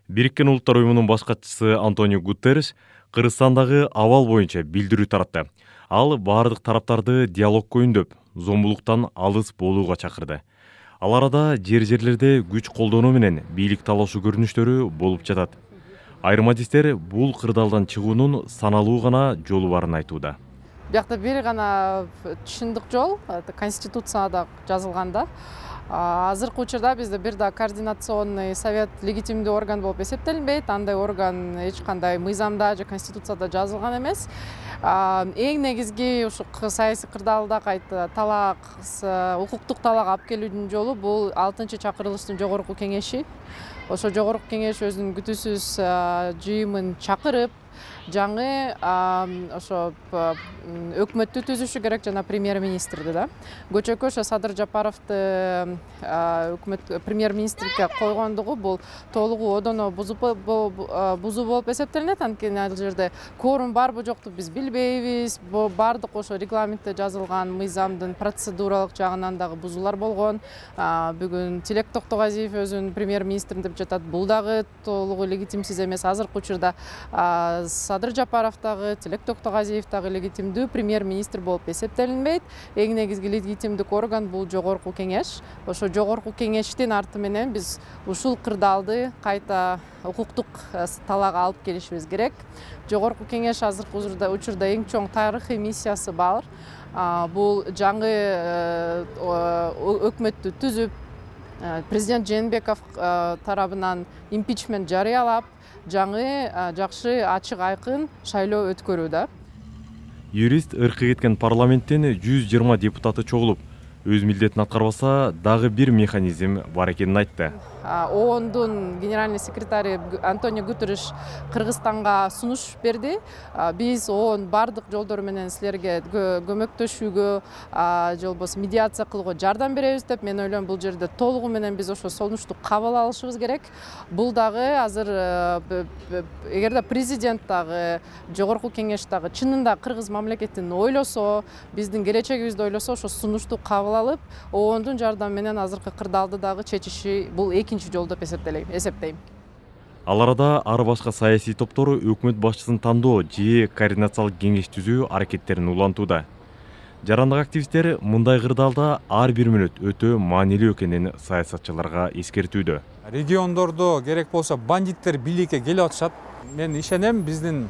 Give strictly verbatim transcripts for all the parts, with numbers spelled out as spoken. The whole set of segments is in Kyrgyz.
Бириккен Улуттар уюмунун баш катчысы Антонио Гутерриш Кыргызстандагы абал боюнча билдирүү таратты. Ал бардык тараптарды диалогко үндөп, зомбулуктан алыс болууга чакырды. Ал арада жер-жерлерде күч колдонуу менен бийлик талашуу көрүнүштөрү болуп жатат. Айрым адистер бул кырдаалдан чыгуунун саналуу гана жолу барын айтууда. Биякта бир гана түшүндүк жол, конституцияда жазылганда. Азыркы учурда бизде бир да координационный совет легитимдүү орган болуп эсептелинбейт. Андай орган эч кандай мыйзамда же конституцияда жазылган эмес. Эң негизги ушу саясий кырдаалда кайта талак, укуктук талак алып келүүнүн жолу бул алтынчы чакырылыштын жогорку кеңеши. Ошо жогорку кеңеш өзүнүн күтүүсүз жыйымын чакырып, жаңы ошо өкмөттү түзүшү керек жана премьер-министрди да. Көчөккө ошо Садыр Жапаровду өкмөт премьер-министрге койгондугу бул толугу одоно бузуу болуп эсептелинет. Анткени ал жерде кворум барбы жокту биз билбейбиз. Бардык ошо регламентте жазылган мыйзамдын процедуралык жагынан дагы бузуулар болгон. Бүгүн Тилек Токтогазиев өзүн премьер-министрим деп жатат. Бул дагы толугу легитимсиз эмес. Азыркы учурда Садыр Жапаров дагы, Тилек Токтогазиев дагы легитимдүү премьер-министр болуп эсептелинбейт. Эң негизги легитимдик орган бул жогорку кеңеш. Ошо жогорку кеңештин арты менен биз ушул кырдаалды кайта укуктук талакка алып келишибиз керек. Жогорку кеңеш азыркы учурда эң чоң тарыхый миссиясы бар. Бул жаңы өкмөттү түзүп, президент Жээнбеков тарабынан импичмент жарыялап, жаңы жакшы ачык айкын шайлоо өткөрүүдө. Юрист ыркы кеткен парламенттин жүз жыйырма депутаты чогулуп, өз милдетин аткарбаса дагы бир механизм бар экенин айтты. ООНдун генеральный секретары Антонио Гутерриш Кыргызстанга сунуш берди. Биз ООН бардык жолдор менен силерге көмөктөшүүгө, же болбосо медиация кылууга жардам беребиз деп, мен ойлойм бул жерде толугу менен биз ошо сунушту кабыл алышыбыз керек. Бул дагы азыр эгерде президент дагы, жогорку кеңеш дагы чынында кыргыз мамлекетин ойлосо, биздин келечегибизди ойлосо, ошо сунушту кабыл алып, ООНдун жардамы менен азыркы кырдаалды дагы чечиши бул экинчи жол деп эсептейм. Ал арада ар башка саясий топтор өкмөт башчысын тандоо же координациялык кеңеш түзүү аракеттерин улантууда. Жарандык активисттер мындай кырдаалда ар бир мүнөт өтө маанилүү экенин саясатчыларга эскертүүдө. Региондордо керек болсо бандиттер бийликке келип атышат. Мен ишенем, биздин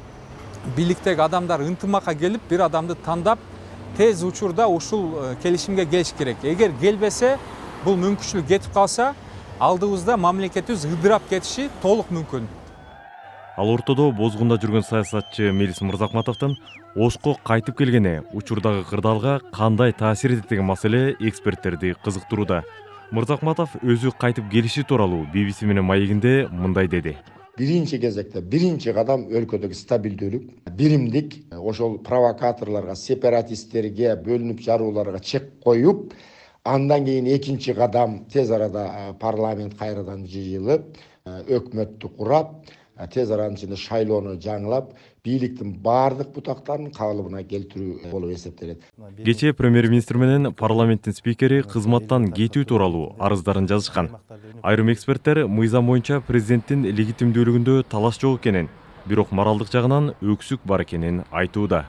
бийликтеги адамдар ынтымакка келип, бир адамды тандап, тез учурда ушул келишимге келиш керек. Эгер келбесе, бул мүмкүнчүлүк кетип калса, алдыбызда мамлекетибиз ыдырап кетиши толук мүмкүн. Ал ортодо бозгунда жүргөн саясатчы Мелис Мырзакматовдун Ошко кайтып келгени учурдагы кырдаалга кандай таасир этет деген маселе эксперттерди кызыктырууда. Мырзакматов өзү кайтып келиши тууралуу би би си менен маегинде мындай деди. Биринчи кезекте биринчи кадам өлкөдөгү стабилдүүлүк, биримдик, ошол провокаторлорго, сепаратисттерге, бөлүнүп жарууларга чек коюп, андан кийин экинчи кадам тез арада парламент кайрадан жыйылып, өкмөттү курап, тез аранын ичинде шайлоону жаңылап, бийликтин бардык бутактарын кабылыбына келтирүү болуп эсептелет. Кечээ премьер-министр менен парламенттин спикери кызматтан кетүү тууралуу арыздарын жазышкан. Айрым эксперттер мыйзам боюнча президенттин легитимдүүлүгүндө талаш жок экенин, бирок моралдык жагынан өксүк бар экенин айтууда.